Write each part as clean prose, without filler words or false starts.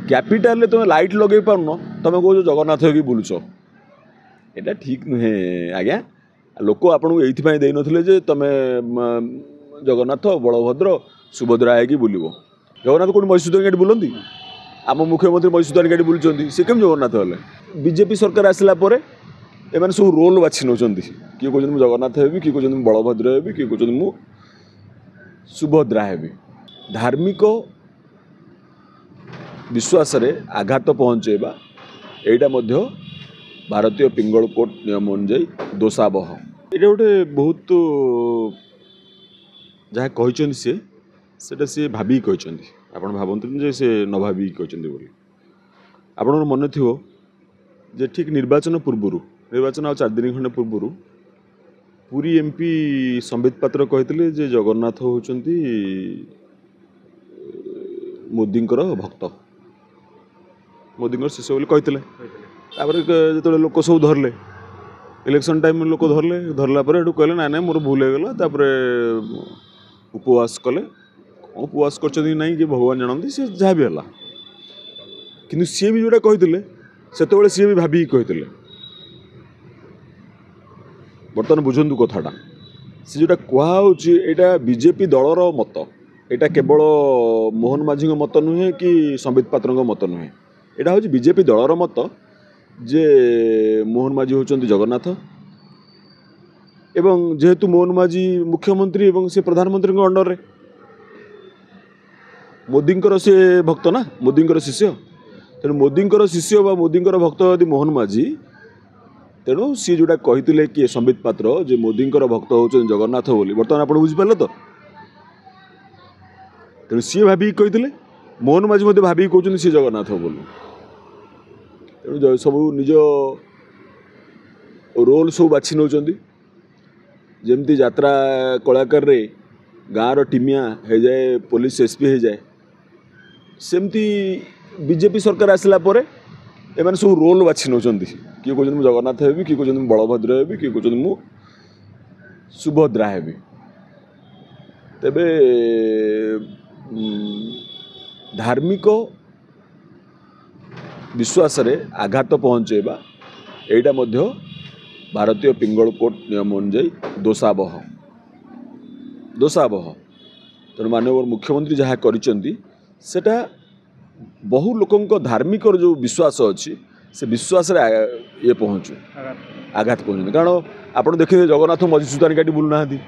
କ୍ୟାପିଟାଲରେ ତୁମେ ଲାଇଟ୍ ଲଗେଇ ପାରୁନ, ତୁମେ କହୁଛ ଜଗନ୍ନାଥ ହେଇକି ବୁଲୁଛ। ଏଇଟା ଠିକ୍ ନୁହେଁ ଆଜ୍ଞା। ଲୋକ ଆପଣଙ୍କୁ ଏଇଥିପାଇଁ ଦେଇନଥିଲେ ଯେ ତୁମେ ଜଗନ୍ନାଥ, ବଳଭଦ୍ର, ସୁଭଦ୍ରା ହେଇକି ବୁଲିବ। ଜଗନ୍ନାଥ କେଉଁଠି ମଧୁସୂଦନ ଗାଡ଼ି ବୁଲନ୍ତି? ଆମ ମୁଖ୍ୟମନ୍ତ୍ରୀ ମଧୁସୂଦନ ଗାଡ଼ି ବୁଲୁଛନ୍ତି, ସେ କେମିତି ଜଗନ୍ନାଥ ହେଲେ? ବିଜେପି ସରକାର ଆସିଲା ପରେ ଏମାନେ ସବୁ ରୋଲ୍ ବାଛି ନେଉଛନ୍ତି। କିଏ କହୁଛନ୍ତି ମୁଁ ଜଗନ୍ନାଥ ହେବି, କିଏ କହୁଛନ୍ତି ମୁଁ ବଳଭଦ୍ର ହେବି, କିଏ କହୁଛନ୍ତି ମୁଁ ସୁଭଦ୍ରା ହେବି। ଧାର୍ମିକ ବିଶ୍ୱାସରେ ଆଘାତ ପହଞ୍ଚାଇବା, ଏଇଟା ମଧ୍ୟ ଭାରତୀୟ ପିଙ୍ଗଳ କୋର୍ଟ ନିୟମ ଅନୁଯାୟୀ ଦୋଷାବହ। ଏଇଟା ଗୋଟେ ବହୁତ ଯାହା କହିଛନ୍ତି ସିଏ, ସେଇଟା ସିଏ ଭାବିକି କହିଛନ୍ତି। ଆପଣ ଭାବନ୍ତୁନି ଯେ ସେ ନ ଭାବିକି କହିଛନ୍ତି ବୋଲି। ଆପଣଙ୍କର ମନେ ଥିବ ଯେ ଠିକ୍ ନିର୍ବାଚନ ପୂର୍ବରୁ, ନିର୍ବାଚନ ଆଉ 4 ଦିନ ଖଣ୍ଡେ ପୂର୍ବରୁ, ପୁରୀ ଏମ୍ପି ସମ୍ବିତ ପାତ୍ର କହିଥିଲେ ଯେ ଜଗନ୍ନାଥ ହେଉଛନ୍ତି ମୋଦିଙ୍କର ଭକ୍ତ, ମୋଦିଙ୍କର ଶିଷ୍ୟ ବୋଲି କହିଥିଲେ। ତାପରେ ଯେତେବେଳେ ଲୋକ ସବୁ ଧରିଲେ, ଇଲେକ୍ସନ୍ ଟାଇମ୍ ଲୋକ ଧରିଲେ, ଧରିଲା ପରେ ଏଠୁ କହିଲେ ନାଇଁ ନାଇଁ ମୋର ଭୁଲ ହେଇଗଲା। ତାପରେ ଉପବାସ କଲେ। କ'ଣ ଉପବାସ କରିଛନ୍ତି କି ନାହିଁ କି ଭଗବାନ ଜାଣନ୍ତି, ସେ ଯାହା ବି ହେଲା। କିନ୍ତୁ ସିଏ ବି ଯେଉଁଟା କହିଥିଲେ ସେତେବେଳେ ସିଏ ବି ଭାବିକି କହିଥିଲେ। ବର୍ତ୍ତମାନ ବୁଝନ୍ତୁ କଥାଟା, ସେ ଯେଉଁଟା କୁହାହେଉଛି ଏଇଟା ବିଜେପି ଦଳର ମତ, ଏଇଟା କେବଳ ମୋହନ ମାଝୀଙ୍କ ମତ ନୁହେଁ କି ସମ୍ବିତ ପାତ୍ରଙ୍କ ମତ ନୁହେଁ। ଏଇଟା ହେଉଛି ବିଜେପି ଦଳର ମତ ଯେ ମୋହନ ମାଝୀ ହେଉଛନ୍ତି ଜଗନ୍ନାଥ, ଏବଂ ଯେହେତୁ ମୋହନ ମାଝୀ ମୁଖ୍ୟମନ୍ତ୍ରୀ ଏବଂ ସେ ପ୍ରଧାନମନ୍ତ୍ରୀଙ୍କ ଅଣ୍ଡରରେ, ମୋଦିଙ୍କର ସେ ଭକ୍ତ ନା, ମୋଦିଙ୍କର ଶିଷ୍ୟ। ତେଣୁ ମୋଦିଙ୍କର ଶିଷ୍ୟ ବା ମୋଦିଙ୍କର ଭକ୍ତ ଯଦି ମୋହନ ମାଝୀ, ତେଣୁ ସିଏ ଯେଉଁଟା କହିଥିଲେ କିଏ ସମ୍ବିତ ପାତ୍ର ଯେ ମୋଦିଙ୍କର ଭକ୍ତ ହେଉଛନ୍ତି ଜଗନ୍ନାଥ ବୋଲି, ବର୍ତ୍ତମାନ ଆପଣ ବୁଝିପାରିଲେ ତ? ତେଣୁ ସିଏ ଭାବିକି କହିଥିଲେ, ମୋହନ ମାଝୀ ମଧ୍ୟ ଭାବିକି କହୁଛନ୍ତି ସିଏ ଜଗନ୍ନାଥ ବୋଲି। ତେଣୁ ସବୁ ନିଜ ରୋଲ୍ ସବୁ ବାଛି ନେଉଛନ୍ତି। ଯେମିତି ଯାତ୍ରା କଳାକାରରେ ଗାଁର ଟିମିଆ ହେଇଯାଏ, ପୋଲିସ ଏସ୍ ପି ହେଇଯାଏ, ସେମିତି ବିଜେପି ସରକାର ଆସିଲା ପରେ ଏମାନେ ସବୁ ରୋଲ୍ ବାଛି ନେଉଛନ୍ତି। କିଏ କହୁଛନ୍ତି ମୁଁ ଜଗନ୍ନାଥ ହେବି, କିଏ କହୁଛନ୍ତି ମୁଁ ବଳଭଦ୍ର ହେବି, କିଏ କହୁଛନ୍ତି ମୁଁ ସୁଭଦ୍ରା ହେବି। ତେବେ ଧାର୍ମିକ ବିଶ୍ୱାସରେ ଆଘାତ ପହଞ୍ଚାଇବା, ଏଇଟା ମଧ୍ୟ ଭାରତୀୟ ପିଙ୍ଗଳ କୋର୍ଟ ନିୟମ ଅନୁଯାୟୀ ଦୋଷାବହ, ଦୋଷାବହ। ତେଣୁ ମାନ୍ୟବର ମୁଖ୍ୟମନ୍ତ୍ରୀ ଯାହା କରିଛନ୍ତି ସେଟା ବହୁ ଲୋକଙ୍କ ଧାର୍ମିକର ଯେଉଁ ବିଶ୍ୱାସ ଅଛି ସେ ବିଶ୍ୱାସରେ ଇଏ ପହଞ୍ଚୁ, ଆଘାତ ପହଞ୍ଚୁଛନ୍ତି। କାରଣ ଆପଣ ଦେଖିବେ ଜଗନ୍ନାଥ ମଧୁସୂଦନ ଗାଡ଼ି ବୁଲୁନାହାନ୍ତି।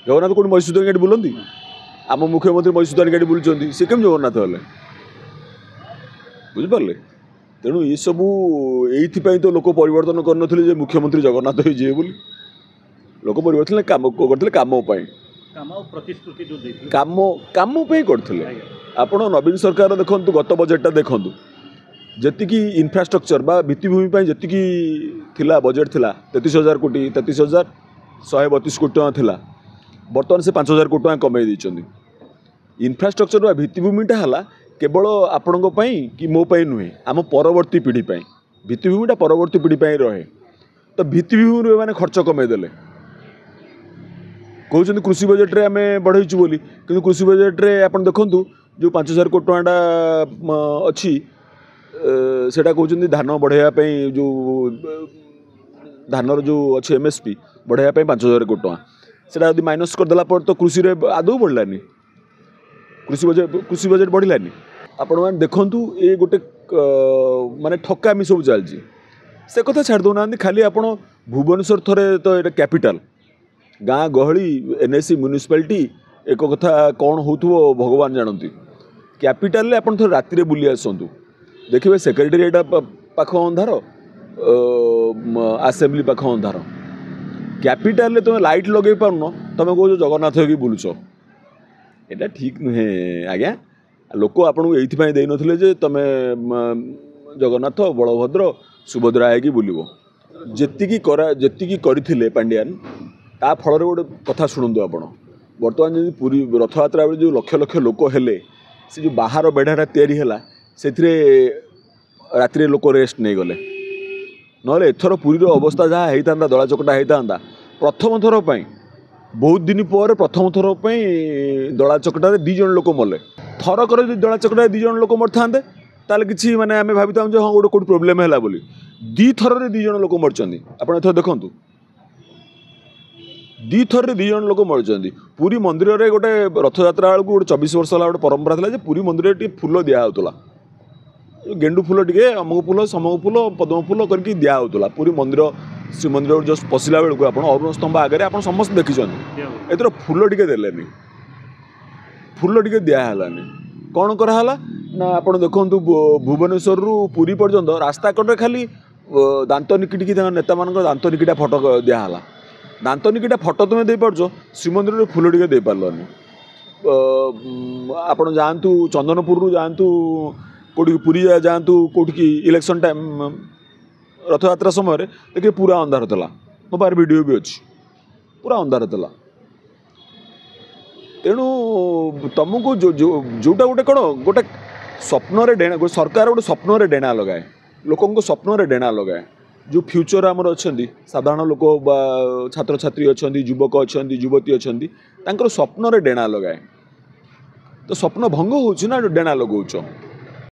ଜଗନ୍ନାଥ କେଉଁଠି ମଧୁସୂଦନ ଗାଡ଼ି ବୁଲନ୍ତି? ଆମ ମୁଖ୍ୟମନ୍ତ୍ରୀ ମଧୁସୂଦନ ଗାଡ଼ି ବୁଲୁଛନ୍ତି, ସେ କେମିତି ଜଗନ୍ନାଥ ହେଲେ? ବୁଝିପାରିଲେ? ତେଣୁ ଏସବୁ ଏଇଥିପାଇଁ ତ ଲୋକ ପରିବର୍ତ୍ତନ କରିନଥିଲେ ଯେ ମୁଖ୍ୟମନ୍ତ୍ରୀ ଜଗନ୍ନାଥ ହେଇଯିବେ ବୋଲି। ଲୋକ ପରିବର୍ତ୍ତନ କାମ କରିଥିଲେ, କାମ ପାଇଁ, କାମ ପାଇଁ କରିଥିଲେ। ଆପଣ ନବୀନ ସରକାର ଦେଖନ୍ତୁ, ଗତ ବଜେଟଟା ଦେଖନ୍ତୁ, ଯେତିକି ଇନଫ୍ରାଷ୍ଟ୍ରକ୍ଚର ବା ଭିତ୍ତିଭୂମି ପାଇଁ ଯେତିକି ଥିଲା ବଜେଟ୍ ଥିଲା 33,000 କୋଟି, 33,132 କୋଟି ଟଙ୍କା ଥିଲା, ବର୍ତ୍ତମାନ ସେ 5,000 କୋଟି ଟଙ୍କା କମେଇ ଦେଇଛନ୍ତି। ଇନଫ୍ରାଷ୍ଟ୍ରକ୍ଚର ବା ଭିତ୍ତିଭୂମିଟା ହେଲା କେବଳ ଆପଣଙ୍କ ପାଇଁ କି ମୋ ପାଇଁ ନୁହେଁ, ଆମ ପରବର୍ତ୍ତୀ ପିଢ଼ି ପାଇଁ। ଭିତ୍ତିଭୂମିଟା ପରବର୍ତ୍ତୀ ପିଢ଼ି ପାଇଁ ରହେ। ତ ଭିତ୍ତିଭୂମିରୁ ଏମାନେ ଖର୍ଚ୍ଚ କମେଇ ଦେଲେ। କହୁଛନ୍ତି କୃଷି ବଜେଟ୍ରେ ଆମେ ବଢ଼େଇଛୁ ବୋଲି, କିନ୍ତୁ କୃଷି ବଜେଟ୍ରେ ଆପଣ ଦେଖନ୍ତୁ ଯେଉଁ 5,000 କୋଟି ଟଙ୍କାଟା ଅଛି, ସେଇଟା କହୁଛନ୍ତି ଧାନ ବଢ଼େଇବା ପାଇଁ, ଯେଉଁ ଧାନର ଯେଉଁ ଅଛି ଏମ୍ଏସ୍ପି ବଢ଼େଇବା ପାଇଁ 5,000 କୋଟି ଟଙ୍କା। ସେଇଟା ଯଦି ମାଇନସ୍ କରିଦେଲା ପରେ ତ କୃଷିରେ ଆଦୌ ବଢ଼ିଲାନି, କୃଷି ବଜେଟ୍ ବଢ଼ିଲାନି। ଆପଣମାନେ ଦେଖନ୍ତୁ, ଏ ଗୋଟେ ମାନେ ଠକାମି ସବୁ ଚାଲିଛି। ସେ କଥା ଛାଡ଼ି ଦେଉନାହାନ୍ତି। ଖାଲି ଆପଣ ଭୁବନେଶ୍ୱର ଥରେ ତ ଏଇଟା କ୍ୟାପିଟାଲ, ଗାଁ ଗହଳି, ଏନ୍ଏସି, ମ୍ୟୁନିସିପାଲିଟି, ଏକ କଥା କ'ଣ ହେଉଥିବ ଭଗବାନ ଜାଣନ୍ତି। କ୍ୟାପିଟାଲରେ ଆପଣ ଥରେ ରାତିରେ ବୁଲି ଆସନ୍ତୁ, ଦେଖିବେ ସେକ୍ରେଟେରିଏଟ୍ ପାଖ ଅନ୍ଧାର, ଆସେମ୍ବଲି ପାଖ ଅନ୍ଧାର। କ୍ୟାପିଟାଲରେ ତୁମେ ଲାଇଟ୍ ଲଗେଇ ପାରୁନ, ତୁମେ କହୁଛ ଜଗନ୍ନାଥ ହେଇକି ବୁଲୁଛ। ଏଇଟା ଠିକ୍ ନୁହେଁ ଆଜ୍ଞା। ଲୋକ ଆପଣଙ୍କୁ ଏଇଥିପାଇଁ ଦେଇନଥିଲେ ଯେ ତୁମେ ଜଗନ୍ନାଥ, ବଳଭଦ୍ର, ସୁଭଦ୍ରା ହେଇକି ବୁଲିବ। ଯେତିକି କରିଥିଲେ ପାଣ୍ଡିଆନ, ତା ଫଳରେ ଗୋଟେ କଥା ଶୁଣନ୍ତୁ ଆପଣ, ବର୍ତ୍ତମାନ ଯଦି ପୁରୀ ରଥଯାତ୍ରା ବେଳେ ଯେଉଁ ଲକ୍ଷ ଲକ୍ଷ ଲୋକ ହେଲେ, ସେ ଯେଉଁ ବାହାର ବେଢ଼ାଟା ତିଆରି ହେଲା, ସେଥିରେ ରାତିରେ ଲୋକ ରେଷ୍ଟ ନେଇଗଲେ। ନହେଲେ ଏଥର ପୁରୀର ଅବସ୍ଥା ଯାହା ହେଇଥାନ୍ତା, ଦଳା ଚକଟା ହେଇଥାନ୍ତା। ପ୍ରଥମ ଥର ପାଇଁ ବହୁତ ଦିନ ପରେ ପ୍ରଥମ ଥର ପାଇଁ ଦଳା ଚକଟାରେ 2 ଜଣ ଲୋକ ମଲେ। ଥରକରେ ଯଦି ଦଳା ଚକଟାରେ 2 ଜଣ ଲୋକ ମରିଥାନ୍ତେ, ତାହେଲେ କିଛି ମାନେ ଆମେ ଭାବିଥାନ୍ତୁ ଯେ ହଁ, ଗୋଟେ କେଉଁଠି ପ୍ରୋବ୍ଲେମ୍ ହେଲା ବୋଲି। 2 ଥରରେ 2 ଜଣ ଲୋକ ମରିଛନ୍ତି। ଆପଣ ଏଥର ଦେଖନ୍ତୁ, 2 ଥରରେ 2 ଜଣ ଲୋକ ମରିଛନ୍ତି। ପୁରୀ ମନ୍ଦିରରେ ଗୋଟେ ରଥଯାତ୍ରା ବେଳକୁ ଗୋଟେ 24 ବର୍ଷ ହେଲା ଗୋଟେ ପରମ୍ପରା ଥିଲା ଯେ ପୁରୀ ମନ୍ଦିରରେ ଟିକେ ଫୁଲ ଦିଆହେଉଥିଲା, ଗେଣ୍ଡୁ ଫୁଲ ଟିକେ, ଅମୁକ ଫୁଲ, ସମକ ଫୁଲ, ପଦ୍ମ ଫୁଲ କରିକି ଦିଆହେଉଥିଲା। ପୁରୀ ମନ୍ଦିର, ଶ୍ରୀମନ୍ଦିର ଜଷ୍ଟ ପଶିଲା ବେଳକୁ ଆପଣ ଅରୁଣ ସ୍ତମ୍ଭ ଆଗରେ ଆପଣ ସମସ୍ତେ ଦେଖିଛନ୍ତି। ଏଥର ଫୁଲ ଟିକେ ଦେଲେନି, ଫୁଲ ଟିକେ ଦିଆହେଲାନି। କ'ଣ କରାହେଲା ନା, ଆପଣ ଦେଖନ୍ତୁ, ଭୁବନେଶ୍ୱରରୁ ପୁରୀ ପର୍ଯ୍ୟନ୍ତ ରାସ୍ତା କଡ଼ରେ ଖାଲି ଦାନ୍ତ ନିକିଟିକି ତାଙ୍କ ନେତାମାନଙ୍କ ଦାନ୍ତ ନିକିଟା ଫଟୋ ଦିଆହେଲା। ଦାନ୍ତ ନିକିଟା ଫଟୋ ତୁମେ ଦେଇପାରୁଛ, ଶ୍ରୀମନ୍ଦିରରେ ଫୁଲ ଟିକେ ଦେଇପାରିଲନି। ଆପଣ ଯାଆନ୍ତୁ ଚନ୍ଦନପୁରରୁ ଯାଆନ୍ତୁ କେଉଁଠିକି, ପୁରୀ ଯାଆନ୍ତୁ କେଉଁଠିକି, ଇଲେକ୍ସନ୍ ଟାଇମ୍ ରଥଯାତ୍ରା ସମୟରେ ଦେଖିବେ ପୁରା ଅନ୍ଧାର ଥିଲା। ମୋ ପାଖରେ ଭିଡ଼ିଓ ବି ଅଛି, ପୁରା ଅନ୍ଧାର ଥିଲା। ତେଣୁ ତୁମକୁ ଯେଉଁଟା ଗୋଟେ କ'ଣ ଗୋଟେ ସ୍ୱପ୍ନରେ ଡେଣା, ସରକାର ଗୋଟେ ସ୍ୱପ୍ନରେ ଡେଣା ଲଗାଏ, ଲୋକଙ୍କ ସ୍ୱପ୍ନରେ ଡେଣା ଲଗାଏ। ଯେଉଁ ଫ୍ୟୁଚର୍ ଆମର ଅଛନ୍ତି, ସାଧାରଣ ଲୋକ ବା ଛାତ୍ରଛାତ୍ରୀ ଅଛନ୍ତି, ଯୁବକ ଅଛନ୍ତି, ଯୁବତୀ ଅଛନ୍ତି, ତାଙ୍କର ସ୍ୱପ୍ନରେ ଡେଣା ଲଗାଏ। ତ ସ୍ୱପ୍ନ ଭଙ୍ଗ ହେଉଛି ନା ଡେଣା ଲଗାଉଛ?